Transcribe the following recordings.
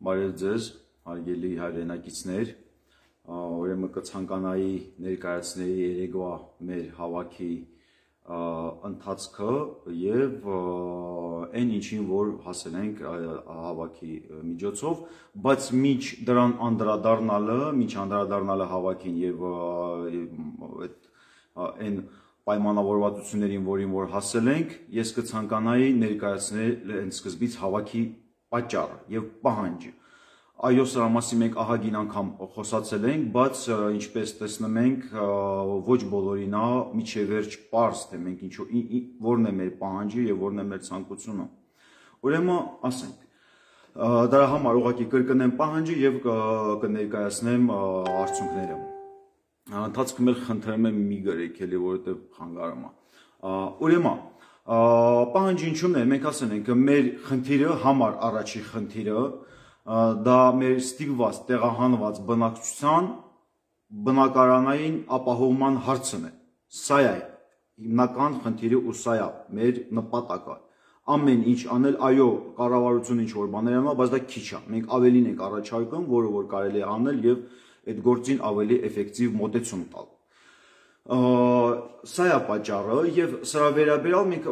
Բարև ձեզ, հարգելի հայրենակիցներ, ուրեմն կցանկանայի ներկայացնել երեկվա մեր հավաքի ընթացքը եւ այն ինչին որ հասել ենք հավաքի միջոցով, բայց միջ դրան անդրադառնալը հավաքին եւ այն պայմանավորվածություններին, որին որ հասել ենք, ես կցանկանայի ներկայացնել այն սկզբից հավաքի պատճառը եւ պահանջը։ Այո, սրա մասին մենք ահագին անգամ խոսացել ենք, բայց ինչպես տեսնում ենք, ոչ բոլորին է միջև վերջ պարզ, թե մենք որն է մեր պահանջը եւ որն է մեր ցանկությունը։ Ուրեմն, ասենք, դրա համար ուղղակի կրկնեմ պահանջը եւ կներկայացնեմ արդյունքները։ Ընթացքում էլ խնդրեմ եմ մի գրեք էլի, որովհետեւ խանգարում է։ Ուրեմն, պահանջը ինչու՞մն է, մենք ասել ենք, մեր խնդիրը համար առաջի խնդիրը դա մեր ստիպված տեղահանված բնակչության բնակարանային ապահովման հարցն է։ Սա է հիմնական խնդիրը ու սա է մեր նպատակը։ Ամեն ինչ անել, այո, կառավարությունը ինչ որ բաներ անում, բայց դա քիչ է։ Մենք ավելին ենք առաջարկում, որը որ կարելի է անել եւ այդ գործին ավելի էֆեկտիվ մոտեցում տալ։ Սա է պատճառը եւ սրա վերաբերյալ մենք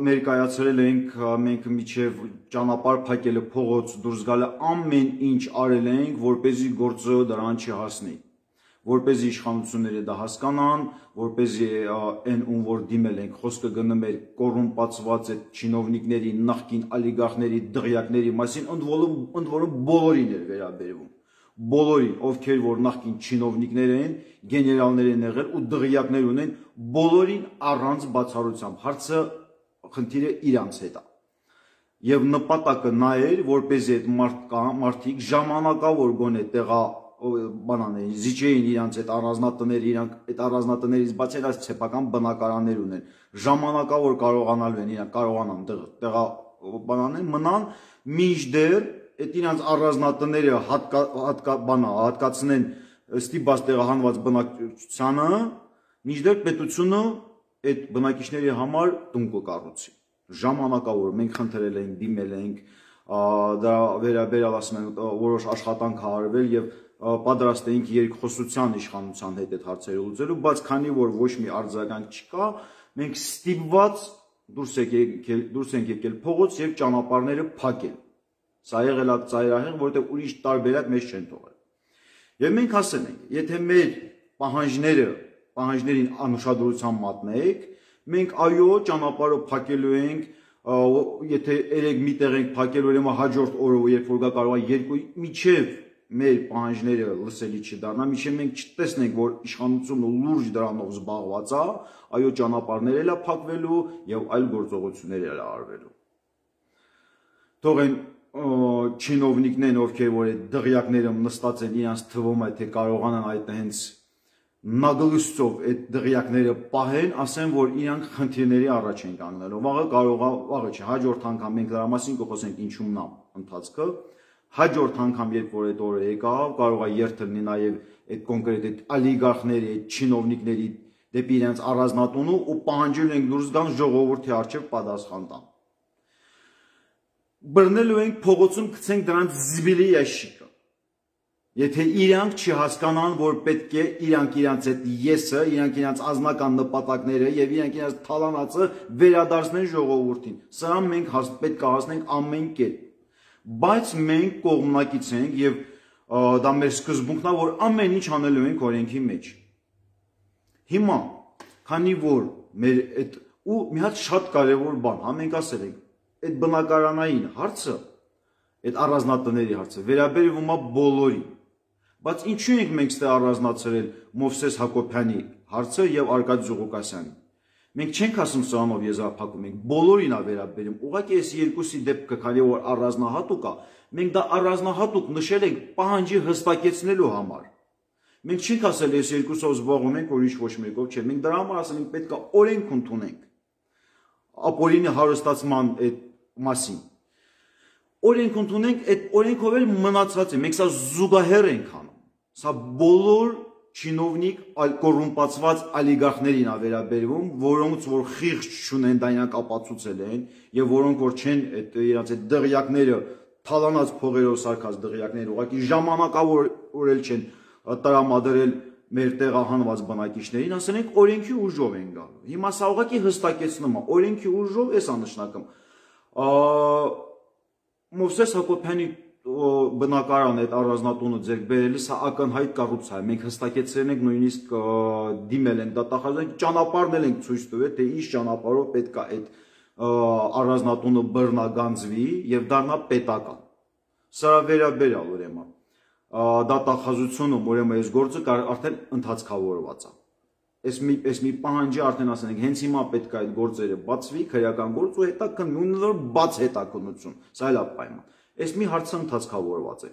ներկայացրել ենք մենք միջև ճանապարհ փակելը փողոց դուրս գալը ամեն ինչ արել ենք որպեսզի գործը դրան չհասնի որպեսզի իշխանությունները դա հասկանան որպեսզի այն ում որ դիմել ենք խոսքը գնում էր կոռումպացված այդ չինովնիկների նախկին օլիգարխների դղյակների մասին ընդ որում բոլորին էր վերաբերվում բոլորին, ովքեր որ նախկին չինովնիկներ են, գեներալներ են եղել ու դղյակներ ունեն, բոլորին առանց բացառությամբ, հարցը խնդիրը իրանց հետ է։ Եվ նպատակը նա էր, որպեսզի այդ մարդիկ ժամանակավոր գոնե տեղա բանաներին, զիջեին իրանց այդ առանձնատները, իրանք այդ առանձնատներից բաց այլ սեփական բնակարաններ ունեն, ժամանակավոր կարողանալու են, իրանք կարողանան տեղա բանաներ մնան, մինչդեռ այդ իրանց առանձնատները հատկացնեն ստիպված տեղահանված բնակչությանը, մինչդեռ պետությունը այդ բնակիչների համար տուն կկառուցի։ Ժամանակավոր մենք խնդրել ենք, դիմել ենք, դա վերաբերյալ ասում են որոշ աշխատանք է արվել եւ պատրաստ էինք երկխոսության իշխանության հետ այդ հարցերը լուծելու, բայց քանի որ ոչ մի արձագանք չկա, մենք ստիպված դուրս ենք եկել փողոց եւ ճանապարհները փակել։ Սա եղել է ծայրահեղ, որովհետև ուրիշ տարբերակ մեզ չեն թողել։ Եվ մենք ասել ենք, եթե մեր պահանջներին անուշադրության մատնենք, մենք այո ճանապարհը փակելու ենք, եթե երեք միտեղ ենք փակել, ուրեմն հաջորդ օրը երբ որ գա կարող է երկու միջև մեր պահանջները լսելի չդառնա, միջև մենք չտեսնենք, որ իշխանությունը լուրջ դրանով զբաղված է, այո ճանապարհներ էլ է փակվելու եւ այլ գործողություններ էլ է արվելու։ Թող են չինովնիկներն ովքեր որ այդ դղյակները նստած են իրանց թվում է թե կարողանան այդ հենց նագլուսով այդ դղյակները պահեն, ասեն որ իրանք խնդիրների առաջ են կանգնելու։ Վաղը չէ, հաջորդ անգամ մենք դրա մասին կխոսենք ինչումն է ընթացքը։ Հաջորդ անգամ երբ որ այդ օրը եկավ, կարող է երթը լինի նաև այդ կոնկրետ այդ օլիգարխների, այդ չինովնիկների դեպի իրանց առանձնատունը ու պահանջել ենք դուրս գան ժողովրդի առջև պատասխան տան։ Բռնելու ենք փողոցում գցենք դրանց զիբիլի ящիկը։ Եթե իրանք չհասկանան, որ պետք է իրանք իրանց այդ եսը, իրանք իրանց անձնական նպատակները եւ իրանք իրանց թալանածը վերադարձնեն ժողովրդին։ Սրա մենք պետք է հասնենք ամեն կերպ։ Բայց մենք կողմնակից ենք եւ դա մեր սկզբունքն է, որ ամեն ինչ անելու ենք օրենքի մեջ։ Հիմա, քանի որ մեր այդ ու մի հատ շատ կարեւոր բան, մենք ասել ենք այդ բնակարանային հարցը, այդ առանձնատների հարցը վերաբերվում է բոլորին։ Բայց ինչու ենք մենք ստե առանձնացրել Մովսես Հակոբյանի հարցը եւ Արկադի Զուղուկասյանի։ Մենք չենք ասում սրանով եզրափակում ենք, բոլորին է վերաբերում։ Ուղղակի այս երկուսի դեպքը, քանի որ առանձնահատուկ է, մենք դա առանձնահատուկ նշել ենք պահանջի հստակեցնելու համար։ Մենք չենք ասել այս երկուսով զբաղվում ենք, ուրիշ ոչ մեկով չէ։ Մենք դրա համար ասել ենք պետք է օրենք ընդունենք։ Ապօրինի հարստացման այդ մասին։ Օրենք ընդունենք, այդ օրենքով էլ մնացած է, մենք սա զուգահեռ ենք անում։ Սա բոլոր չինովնիկ կոռումպացված օլիգարխներին է վերաբերվում, որոնց որ խիղճ չունեն, դա իրանք ապացուցել են, եւ որոնք որ չեն այդ իրանց այդ դղյակները թալանած փողերով սարքած դղյակներ ուղղակի ժամանակավորել չեն տրամադրել մեր տեղահանված բնակիչներին, ասենք օրենքի ուժով են գալու։ Հիմա սա ուղղակի հստակեցնում է, օրենքի ուժով էսա նշանակում։ Մովսես Հակոբյանի բնակարան այդ առանձնատունը ձեռք բերելը սա ակնհայտ կոռուպցիա է։ Մենք հստակեցրել ենք, նույնիսկ դիմել ենք դատախազին, ճանապարհներ ենք ցույց տվել, թե ինչ ճանապարհով պետք է այդ առանձնատունը բռնագանձվի եւ դառնա պետական։ Սրա վերաբերյալ ուրեմն դատախազությունում ուրեմն այս գործը արդեն ընթացքավորված է։ Այս մի պահանջի արդեն ասենք հենց հիմա պետք է այդ գործերը բացվի, քրեական գործ ու հետաքննություն, բաց հետաքննություն, սա էլ է պայման։ Այս մի հարցը ընթացքավորված է։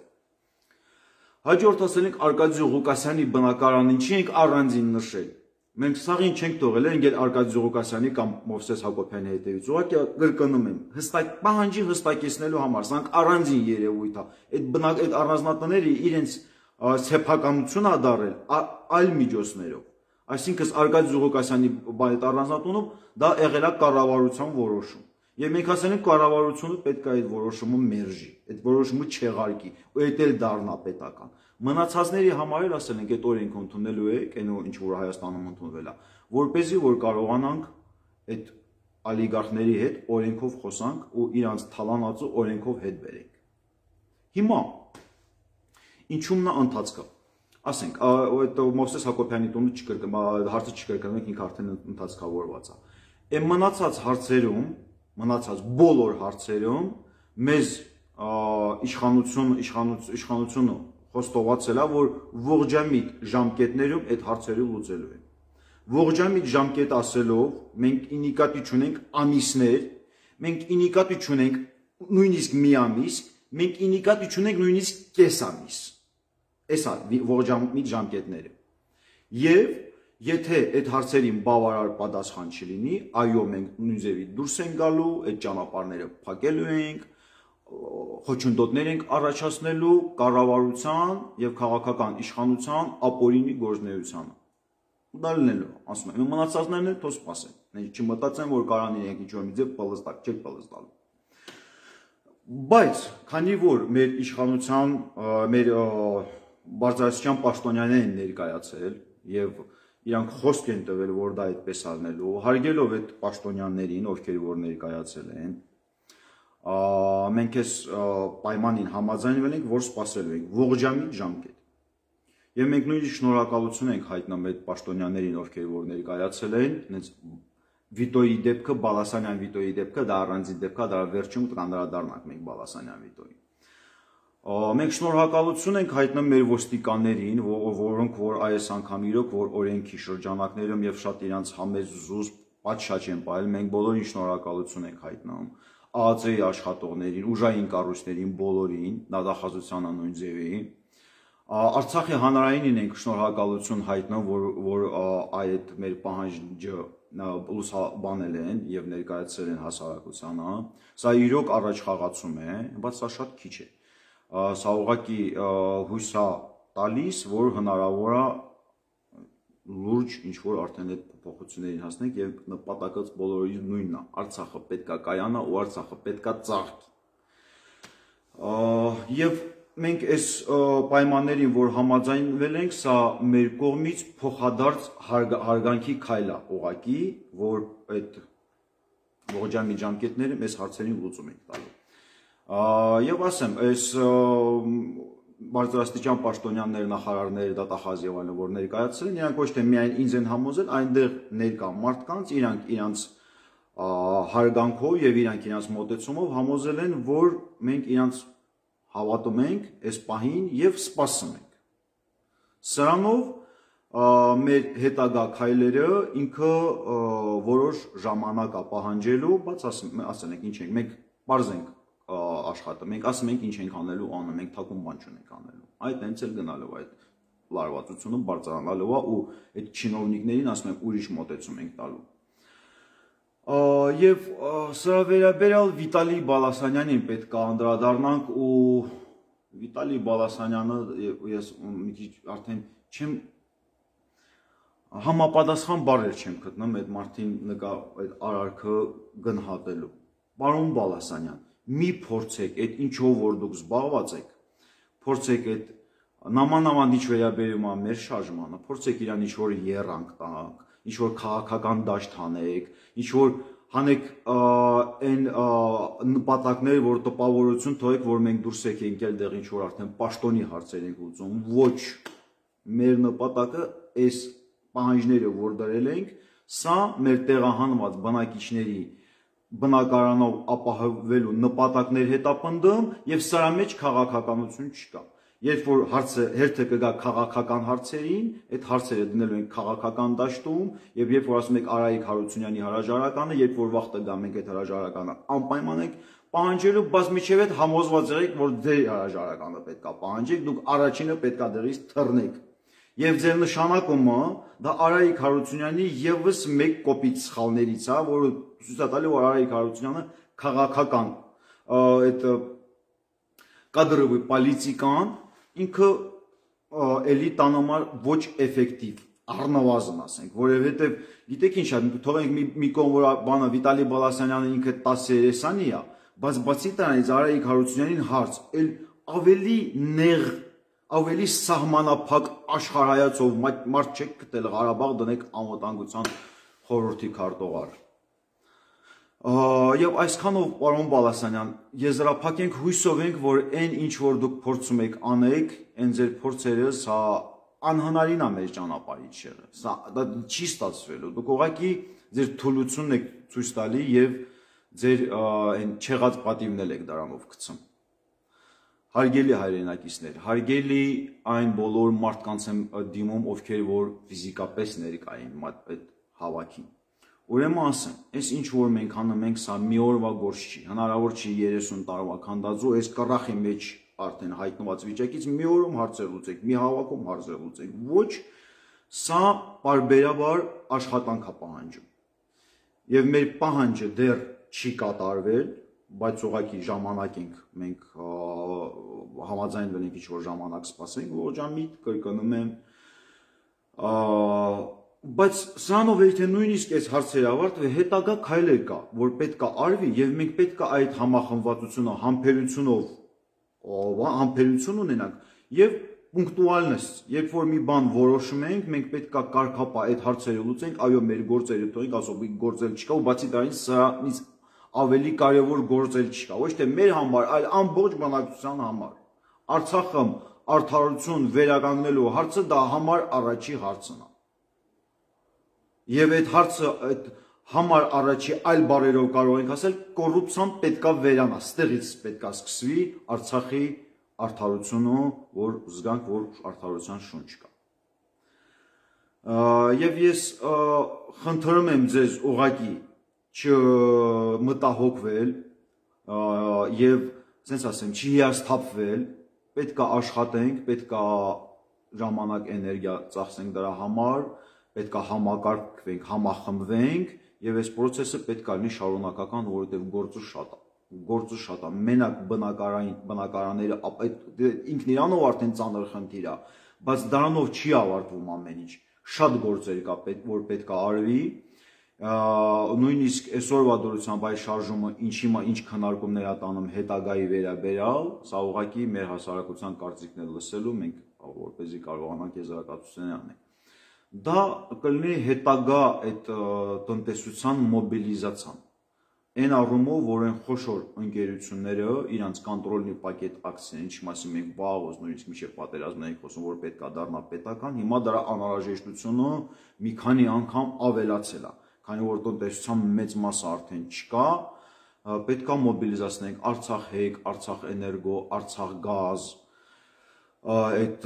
Հաջորդ ասենք Արկադի Ղուկասյանի բնակարանին չի ենք առանձին նշել։ Մենք սաղին չենք թողել, ընկել Արկադի Ղուկասյանի կամ Մովսես Հակոբյանի հետևից։ Ուղղակի կրկնում եմ, պահանջի հստակեցնելու համար, սրանք առանձին երևույթ է։ Այդ առանձնատները իրենց սեփականությունը դարել այլ միջոցներով։ Այսինքն Արկադի Ղուկասյանի այդ առանձնատունում դա եղել է կառավարության որոշում։ Եվ մենք ասել ենք կառավարությունը պետք է այդ որոշումը մերժի, այդ որոշումը չեղարկի, ու այդ էլ դառնա պետական։ Մնացածների համար էլ ասել ենք այդ օրենքը ընդունելու եք, այն ինչ որ Հայաստանում ընդունվել է, որպեսզի որ կարողանանք այդ օլիգարխների հետ օրենքով խոսանք ու իրանց թալանածը օրենքով հետ բերենք։ Հիմա ինչումն է ընթացքը։ Ասենք, այդ Մովսես Հակոբյանի տունը հարցը չկրկնենք, ինքը արդեն ընթացքավորված է։ Այն մնացած բոլոր հարցերում մեզ իշխանությունը խոստովացել է, որ ողջամիտ ժամկետներում այդ հարցերը լուծելու են։ Ողջամիտ ժամկետ ասելով մենք ինիկատի չունենք ամիսներ, մենք ինիկատի չունենք նույնիսկ մի ամիս, մենք ինիկատի չունենք նույնիսկ կես ամիս։ Էս է ողջամիտ ժամկետները։ Եվ եթե այդ հարցերին բավարար պատասխան չլինի, այո, մենք նույնձևի դուրս ենք գալու, այդ ճանապարհները փակելու ենք, խոչընդոտներ ենք առաջացնելու կառավարության եւ քաղաքական իշխանության ապօրինի գործունեությանը։ Դա լինելու, ասում եմ, մնացածներն էլ թող սպասեն։ Մենք չմտածեն, որ կարան իրենք ինչ-որ մի ձև պլստակ, չեք պլստալու։ Բայց քանի որ մեր իշխանության, մեր բարձրաստիճան պաշտոնյաներն ներկայացել եւ իրանք խոսք են տվել, որ դա այդպես արնելու, հարգելով այդ պաշտոնյաներին, ովքեր որ ներկայացել են, մենք այս պայմանին համաձայնվել ենք, որ սպասելու ենք ողջամիտ ժամկետ։ Եվ մենք նույնիսկ շնորհակալություն ենք հայտնում այդ պաշտոնյաներին, ովքեր որ ներկայացել են, հենց Վիտոյի դեպքը, Բալասանյան Վիտոյի դեպքը, դա առանձին դեպք է, դա վերջում կանդրադառնանք մենք Բալասանյան Վիտոյին։ Մենք շնորհակալություն ենք հայտնում մեր ոստիկաններին, որոնք որ այս անգամ իրոք որ օրենքի շրջանակներում եւ շատ իրանց համեզ զուսպ պատշաճ են ողել, մենք բոլորին շնորհակալություն ենք հայտնում, ԱԱԾ-ի աշխատողներին, ուժային կառույցներին բոլորին, դատախազությանը նույն ձևի, Արցախի հանրայինին ենք շնորհակալություն հայտնում, որ այդ մեր պահանջը լուսաբանել են եւ ներկայացրել են հասարակությանը, սա իրոք առաջ խաղացում է, բայց սա շատ քիչ է։ Սա ուղղակի հույս է տալիս, որ հնարավոր է լուրջ ինչ-որ արդեն այդ փոփոխություններին հասնենք եւ նպատակած բոլորի նույնն է, Արցախը պետքա կայանա ու Արցախը պետքա ծաղկի։ Եվ մենք այս պայմաններին, որ համաձայնվել ենք, սա մեր կողմից փոխադարձ հարգանքի քայլ է ուղղակի, որ այդ ողջամիտ ժամկետները մեզ հարցերին լուծում ենք տալու։ Եվ ասեմ, այս բարձրաստիճան պաշտոնյաններ, նախարարներ, դատախազ եւ այլն, որ ներկայացել են, իրանք ոչ թե միայն ինձ են համոզել, այնտեղ ներկա մարդկանց, իրանք իրանց հարգանքով եւ իրանք իրանց մոտեցումով համոզել են, որ մենք իրանց հավատում ենք այս պահին եւ սպասում ենք։ Սրանով մեր հետագա քայլերը ինքը որոշ ժամանակ է պահանջելու, բայց ասենք ինչ ենք, մենք բարձ ենք աշխատում, մենք ասում ենք ինչ ենք անելու, անում ենք, թակուն բան չունենք անելու։ Այդ հենց էլ գնալով այդ լարվածությունը բարձրանալով է ու այդ չինովնիկներին ասում ենք ուրիշ մոտեցում ենք տալու։ Եվ սրա վերաբերյալ Վիտալի Բալասանյանին պետք է անդրադառնանք ու Վիտալի Բալասանյանը ես մի քիչ արդեն չեմ համապատասխան բառեր չեմ գտնում այդ մարդին նկա այդ արարքը գնահատելու։ Պարոն Բալասանյան, մի փորձեք այդ ինչով որ դուք զբաղված եք, փորձեք այդ նամանավանդ ինչ վերաբերում է մեր շարժմանը, փորձեք իրան ինչ որ երանգ տանք, ինչ որ քաղաքական դաշտ հանեք, ինչ որ հանեք այն նպատակները, որ տպավորություն թողեք, որ մենք դուրս եկենք էլ դեղ ինչ որ արդեն պաշտոնի հարցեր ենք ուզում, ոչ, մեր նպատակը այս պահանջները, որ դրել ենք, սա մեր տեղահանված բնակիչների բնակարանով ապահովելու նպատակներ հետապնդում եւ սրա մեջ քաղաքականություն չկա։ Երբ որ հերթը կգա քաղաքական հարցերին, այդ հարցերը դնելու ենք քաղաքական դաշտում, եւ երբ որ ասում եք Արայիկ Հարությունյանի հրաժարականը, երբ որ վաղ տա մենք այդ հրաժարականը անպայման ենք պահանջելու, բայց միջև այդ համոզված եղեք, որ ձեր հրաժարականը պետքա պահանջեք, դուք առաջինը պետքա դրից թռնեք։ Եվ ձեր նշանակումը դա Արայիկ Հարությունյանի եւս մեկ կոպիտ սխալներից է, որը ցույց է տալի, որ Արայիկ Հարությունյանը քաղաքական այդ կադրովի պոլիտիկան ինքը էլի տանոմար ոչ էֆեկտիվ, առնվազն ասենք, որովհետև գիտեք ինչ է, թողենք մի կողմ որ բանը Վիտալի Բալասանյանը ինքը 10-30-ի է, բայց բացի դրանից Արայիկ Հարությունյանին հարց, էլ ավելի նեղ, ավելի սահմանափակ աշխարհայացով մարդ չեք գտել Ղարաբաղ դնեք անվտանգության խորհրդի քարտուղար։ Եվ այսքանով պարոն Բալասանյան, եզրափակենք հույսով ենք, որ այն ինչ որ դուք փորձում եք անեք, այն ձեր փորձերը սա անհնարին է մեր ճանապարհից եղել։ Սա դա չի ստացվելու։ Դուք ուղղակի ձեր թուլությունն եք ցույց տալի եւ ձեր այն չեղած պատիվն եք դրանով գցում։ Հարգելի հայրենակիցներ, հարգելի այն բոլոր մարդկանց եմ դիմում, ովքեր որ ֆիզիկապես ներկային այդ հավաքին։ Ուրեմն ասեմ, այս ինչ որ մենք անում ենք, սա մի օրվա գործ չի, հնարավոր չի 30 տարվա քանդածու, այս կռախի մեջ արդեն հայտնված վիճակից մի օրում հարցեր լուծենք, մի հավաքում հարցեր լուծենք, ոչ, սա պարբերաբար աշխատանք է պահանջում։ Եվ մեր պահանջը դեռ չի կատարվել, բայց ուղղակի ժամանակ ենք մենք համաձայնվել ենք ինչ որ ժամանակ սպասենք, որջամիտ կրկնում եմ, բայց սրանով եթե նույնիսկ այս հարցերը ավարտվի, հետագա քայլեր կա, որ պետք է արվի եւ մենք պետք է այդ համախմբվածությունը, համբերություն ունենանք եւ պունկտուալնess, երբ որ մի բան որոշում ենք, մենք պետք է կարգապահ այդ հարցերը լուծենք, այո, մեր գործերը թողենք, ասում ենք գործել չկա ու բացի դրանից սրանից ավելի կարևոր գործել չկա, ոչ թե մեր համար, այլ ամբողջ բնակչության համար։ Արցախը արդարություն վերականգնելու հարցը դա համար առաջի հարցն է։ Եվ այդ հարցը այդ համար առաջի այլ բարերով կարող ենք ասել կոռուպցիան պետքա վերանա, ստեղից պետքա սկսվի Արցախի արդարությունը, որ զգանք, որ արդարության շունչ կա։ Եվ ես խնդրում եմ ձեզ ուղղակի չմտահոգվել եւ ասենց ասեմ, չհիասթափվել, պետքա աշխատենք, պետքա ժամանակ էներգիա ծախսենք դրա համար, պետքա համակարգվենք, համախմբվենք եւ այս process-ը պետքա լինի շարունակական, որովհետեւ գործը շատ է, մենակ բնակարանները ինքն իրանով արդեն ծանր խնդիր է, բայց դրանով չի ավարտվում ամեն ինչ, շատ գործեր կա, որ պետքա արվի, նույնիսկ այսօրվա դրությամբ այս շարժումը ինչ քննարկումներ է տանում հետագայի վերաբերյալ, սա ուղղակի մեր հասարակության կարծիքն է լսելու, մենք որպեսզի կարողանանք եզրակացություններ անենք։ Դա կլինի հետագա այդ տնտեսության մոբիլիզացիան, այն առումով, որ այն խոշոր ընկերությունները իրանց կոնտրոլնի պակետ ակցիաներ, ինչի մասին մենք վաղուց նույնիսկ մինչև պատերազմն ենք խոսում, որ պետք է դառնա պետական, հիմա դրա անհրաժեշտությունը մի քանի անգամ ավելացել է, քանի որ տնտեսության մեծ մասը արդեն չկա, պետք է մոբիլիզացնենք Արցախ հեկ, Արցախ էներգո, Արցախ գազ, այդ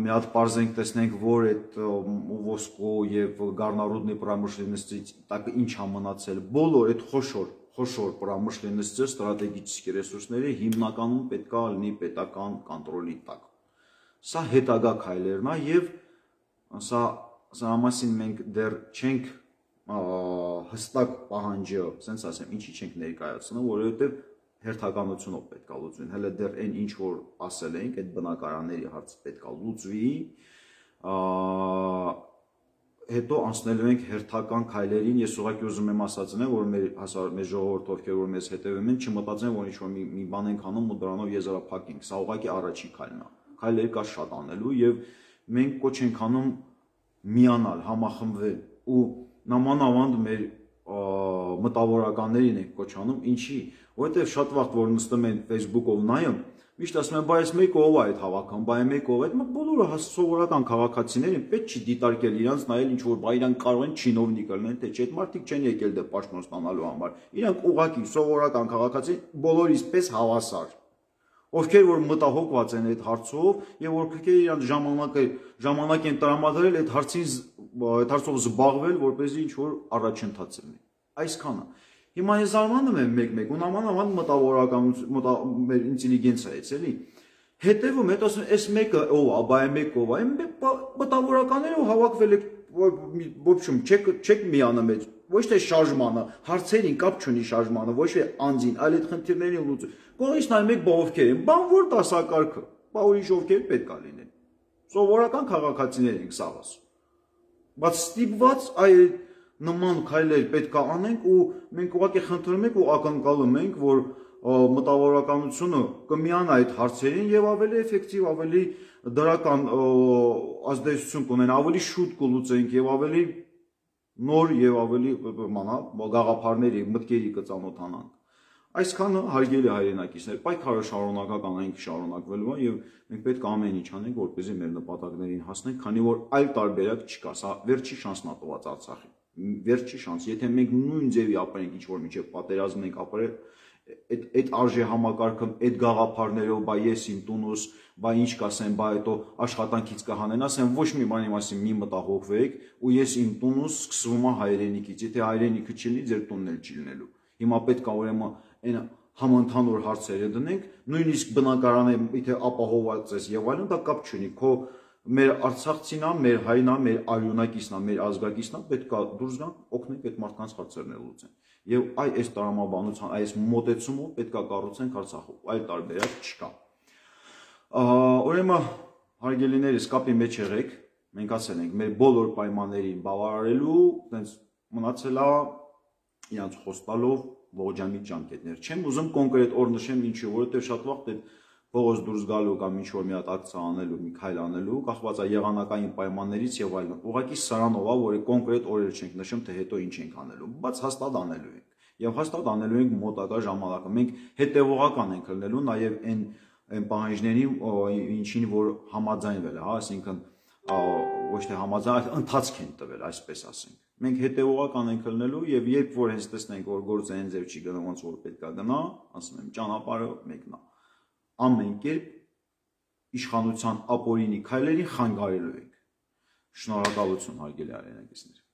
մի հատ պարզենք տեսնենք, որ այդ ոսկու եւ գառնառուդնի պրամышленности տակ ինչ է մնացել, բոլոր այդ խոշոր պրամышленности ստրատեգիչիկ ռեսուրսները հիմնականում պետք է լինի պետական կոնտրոլի տակ։ Սա հետագա քայլերն է եւ սա մասին մենք դեռ չենք հստակ պահանջը, ասենց ասեմ, ինչի չենք ներկայացնում, որովհետեւ հերթականությունով պետք է լուծվի, հələ դեռ այն ինչ որ ասել ենք, այդ բնակարանների հարցը պետք է լուծվի, հետո անցնելու ենք հերթական քայլերին, ես ուղղակի ուզում եմ ասացնել, որ մեր ժողովուրդը, ովքեր որ մեզ հետևում են, չմտածեն, որ ինչ-որ մի բան ենք անում ու դրանով եզրափակենք։ Սա ուղղակի առաջի քայլն է։ Քայլեր կա շատ անելու եւ մենք կոչ ենք անում միանալ, համախմբվել ու նամանավանդ մեր մտավորականներին ենք կոչ անում, ինչի, որովհետեւ շատ վաղ որ նստում են Facebook-ով նայում, միշտ ասում են, բայց մեկը ով է այդ հավաkan, բայ մեկը ով է, այդ բոլորը սովորական քաղաքացիներին պետք չի դիտարկել իրանց նայել ինչ որ բայ իրանք կարող են չինովնիկ լինեն, թե չէ, այդ մարդիկ չեն եկել դե պաշտոն ստանալու համար։ Իրանք ուղղակի սովորական քաղաքացի բոլորիս պես հավասար, ովքեր որ մտահոգված են այդ հարցով եւ ովքեր իրանք ժամանակ են տրամադրել այդ հարցով զբաղվել, որպեսզի ինչ որ առաջընթաց լինի։ Այսքանը։ Հիմա ես զարմանում եմ մեկ-մեկ ու նամանավանդ մտավորականություն, մեր ինտելիգենցիայից էլի։ Հետևում հետ ասում այս մեկը ով է, բայ մեկը ով է, մտավորականներով հավաքվել եք, ոբշում չեք միանում այդ, ոչ թե շարժմանը, հարցերին կապ չունի շարժմանը, ոչ թե անձին, այլ այդ խնդիրներին լուծում։ Կողից նայում եք բա ովքեր են, բան որ դասակարգը, բա ուրիշ ովքեր պետք է լինեն։ Սովորական քաղաքացիներ ենք սա ասում։ Բայց ստիպված այդ նման քայլեր պետք է անենք ու մենք ուղղակի խնդրում ենք ու ակնկալում ենք, որ մտավորականությունը կմիանա այդ հարցերին եւ ավելի էֆեկտիվ, ավելի դրական ազդեցություն կունենա, ավելի շուտ կլուծենք եւ ավելի նոր եւ ավելի գաղափարների, մտքերի կծանոթանանք։ Այսքանը հարգելի հայրենակիցներ, պայքարը շարունակական այնք շարունակվելու է եւ մենք պետք է ամեն ինչ անենք, որպեսզի մեր նպատակներին հասնենք, քանի որ այլ տարբերակ չկա, սա վերջի շանսն է տված Արցախին։ Վերջի շանս, եթե մենք նույն ձևի ապրենք, ինչ որ միջև պատերազմ ենք ապրել, այդ արժե համակարգում, այդ գաղափարներով, բայ ես իմ տունուս, բայ ինչ կասեմ, բայ հետո աշխատանքից կհանեն, ասեմ ոչ մի բանի մասին մի մտահոգվեք, ու ես իմ տունուս սկսվում է հայրենիքից, եթե հայրենիքը չլինի, ձեր տունն էլ չի լինելու։ Հիմա պետք է ուրեմն այն համընդհանուր հարցերը դնենք, նույնիսկ բնակարանը, եթե ապահովված ես եւ այլն, դա կապ չունի, քո մեր արցախցին է, մեր հայրն է, մեր արյունակիցն է, մեր ազգակիցն է, պետք է դուրս գանք, օգնենք այդ մարդկանց հարցերն լուծեն։ Եվ այս տրամաբանության, այս մոտեցումով պետք է կառուցենք Արցախը, այլ տարբերակ չկա։ Ուրեմն հարգելիներս, կապի մեջ եղեք, մենք ասել ենք մեր բոլոր պայմաններին բավարարելու, տենց մնացել է իրանց խոստալով ողջամիտ ջանքերներ։ Չեմ ուզում կոնկրետ օր նշեմ ինչու, որովհետև շատ վաղ փողոց դուրս գալու կամ ինչ-որ մի հատ ակցիա անելու, մի քայլ անելու, կախված է եղանակային պայմաններից եւ այլն։ Ուղղակի սրանով է, որ կոնկրետ օրեր չենք նշում, թե հետո ինչ ենք անելու, բայց հաստատ անելու ենք։ Եվ հաստատ անելու ենք մոտակա ժամանակը։ Մենք հետևողական ենք լինելու նաեւ այն պահանջներին, ինչին որ համաձայնվել է, հա, այսինքն ոչ թե համաձայն, ընթացք են տվել, այսպես ասենք։ Մենք հետևողական ենք լինելու եւ երբ որ հենց տեսնենք, որ գործը հենց ձև չի գնում, ոնց որ պետք է գնա, ասում եմ, ճանապարհը մեկն է։ Ամեն կերպ իշխանության ապօրինի քայլերին խանգարելու ենք։ Շնորհակալություն հարգելի հայրենակիցներ։